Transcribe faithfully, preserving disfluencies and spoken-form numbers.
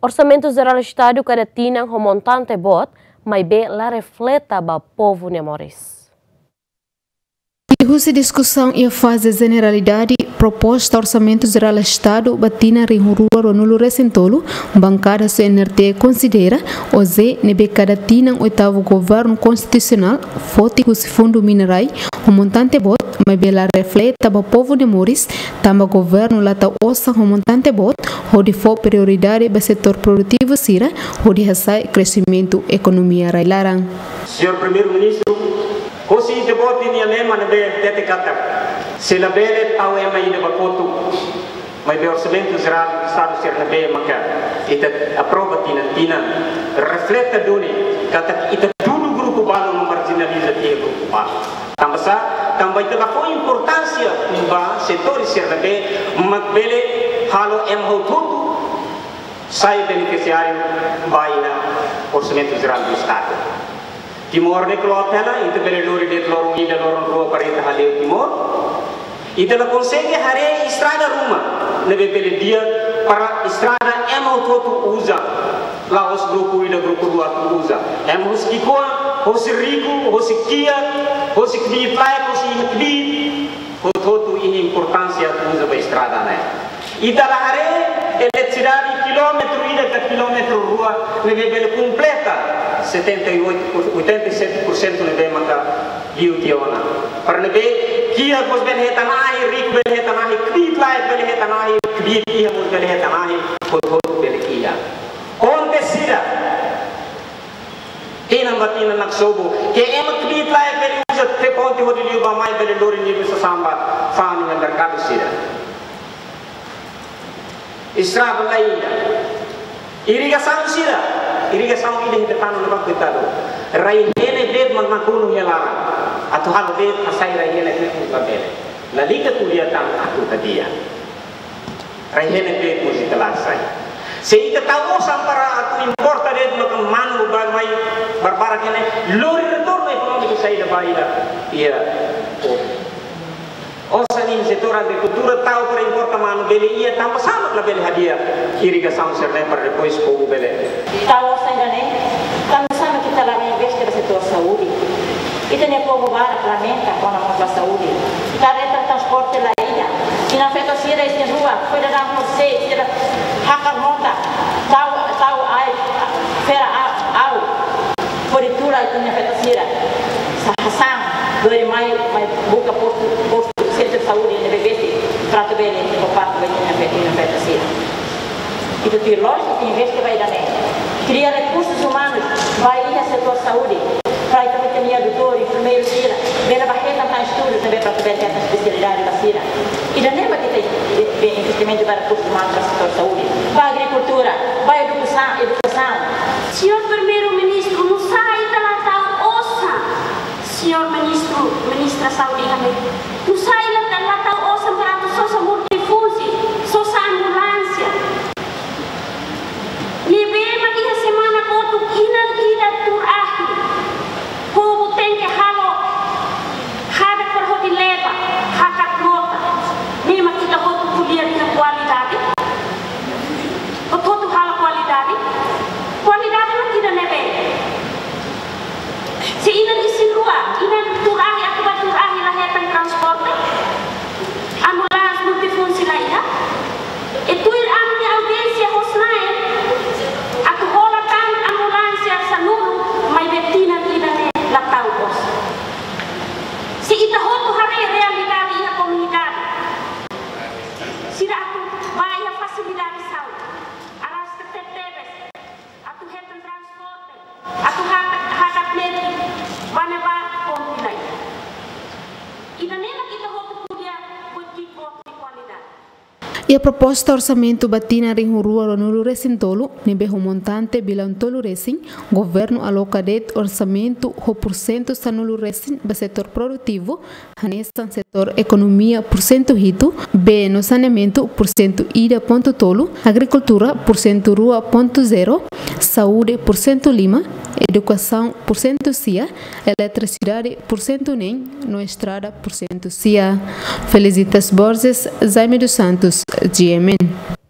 Orsamentu Jerál Estadu kada tinan ho montante boot, maibé la refleta ba povu nia moris. Liuhusi diskusaun iha faze jeneralidade proposta Orsamentu Jerál Estadu ba tinan rihun rua ruanulu-resin-tolu, bankada C N R T konsidera, oze ne'ebé kada tinan oitavu Governu Konstitusionál foti husi Fundu Mina-Rai ho montante boot, maibé la refleta ba povu nia moris, tanba Governu la tau osan ho montante boot, hodi fó prioridade ba setór produtivu sira, hodi hasa'e kresimentu ekonomia rai-laran. Señór Primeiru-Ministru, hosi ita-boot nia lema ne'ebé hatete katak, se labele tau ema ida ba kotuk, maibé Orsamentu Jerál Estadu sira ne'ebé maka ita aprova tinan-tinan, refleta duni katak ita dudu grupu balu no marjinaliza tiha grupu balu. Tanba sá? Tanba ita la fó importánsia ba setór sira ne'ebé mak bele halo ema hotu-hotu sai benefisiáriu ba iha Orsamentu Jerál do Estadu. Timor ne'e kloot hela, ita bele lori de'it loron ida, loron rua para ita hale'u Timor. Ita la konsege haree estrada ruma ne'ebé bele di'ak para estrada ema hotu-hotu uza. La'ós grupu ida, grupu rua atu uza. Ema husi ki'ikoan, husi riku, husi kiak, husi kbiit-laek, husi iha kbiit, hotu-hotu iha importánsia atu uza ba estrada ne'e. Ita la haree eletrisidade kilómetru ida ka kilómetru rua ne'ebé bele kompleta setenta e oito por, oitenta e sete por cento ne'ebé maka liu tiha ona. Para ne'ebé kiak mós bele hetan ahi, riku bele hetan ahi, kbiit-laek bele hetan ahi, kbiit iha mós bele hetan ahi, hotu-hotu bele iha. Ponte sira, tinan ba tinan naksobu, ke ema kbiit-laek bele uza tiha ponte hodi liu ba mai, bele lori nia sasán ba fa'an iha merkadu sira. Estrada la iha. Irrigasaun sira, irrigasaun ida iha Betano ne'ebá, koitadu. Rai-henek de'it mak nakonu iha laran. Atu halo de'it, hasai rai-henek de'it mak labele. Lalika ko'alia tan atu hadi'a. Rai-henek de'it mós ita la hasai. Se ita tau osan para atu importa de'it maka manu ba mai barbarak ne'e, lori retornu ekonómiku saida ba ita? Iha, oh. Osan iha setór agrikultura tau para importa manu bele iha, tanba sá mak labele hadi'a irrigasaun sira-ne'e para depois povu bele. Tau osan ida-ne'e, tanba sá mak ita la investe ba setór saúde? Ita-nia povu barak lamenta kona-ba saúde. Kareta transporte la iha. Inan-feton sira isin-rua, foin daudaun horisehik sira hakat mota, tau, tau ai, fera a-, ahu. Hodi tula inan-feton sira. Sa-, hasa'e, lori mai, mai buka postu, postu sentru saúde ne'ebé besik, para atu bele, para atu bele inan-fe-, inan-feton sira. Ita tuir lójika ita investe ba ida-ne'e. Kria rekursus umanus ba iha setór saúde. Para ita bele iha doutór, enfermeiru sira. Bele ba hetan tan estudu, ne'ebé para atu bele hetan espesialidade ba sira. Ida-ne'e mak ita, eh, eh, investimentu ba rekursus umanus ba setór saúde. Ba agrikultura, ba edukasaun, edukasaun. Señór Primeiru-Ministru, nusá ita la tau osan? Señór Ministru, Ministra Saúde, ami. Nusá ita la tau osan para atu sosa multifunsi, sosa ambulánsia? Ne'ebé mak iha semana kotuk inan ida tuur ahi. Povu tenke halo hadak para hodi leba, hakat mota. Ne'e mak ita hotu ko'alia dehan kualidade? Hotu-hotu halo kualidade? Kualidade mak ida-ne'ebé? Se inan isin-rua, inan tuur ahi, atu ba tuur ahi la hetan transporte, ambulánsia multifunsi la iha. E tuir ami-nia audiénsia hosi Na'i, atu hola tan ambulánsia sanulu, maibé tinan ida-ne'e la tau osan. Se ita hotu haree realidade iha komunidade, sira atu ba iha fasilidade saúde, arrasta tebetebes atu hetan transporte, atu hakat, hakat metin, ba ne'ebá ponte la iha. Ida-ne'e mak ita hotu ko'alia buat ki'ik boot nia kualidade. Iha proposta orsamentu ba tinan rihun rua ruanulu-resin-tolu, ne'ebé ho montante bilaun tolu resin, Governu aloka de'it orsamentu ho pursentu sanulu resin ba setór produtivu, hanesan setór ekonomia pursentu hitu, bee no saneamentu pursentu ida pontu tolu, agrikultura pursentu rua pontu zero, saúde pursentu lima, edukasaun pursentu sia, eletrisidade pursentu neen, no estrada pursentu sia. Felicitas Borges, Jaime dos Santos, G M N.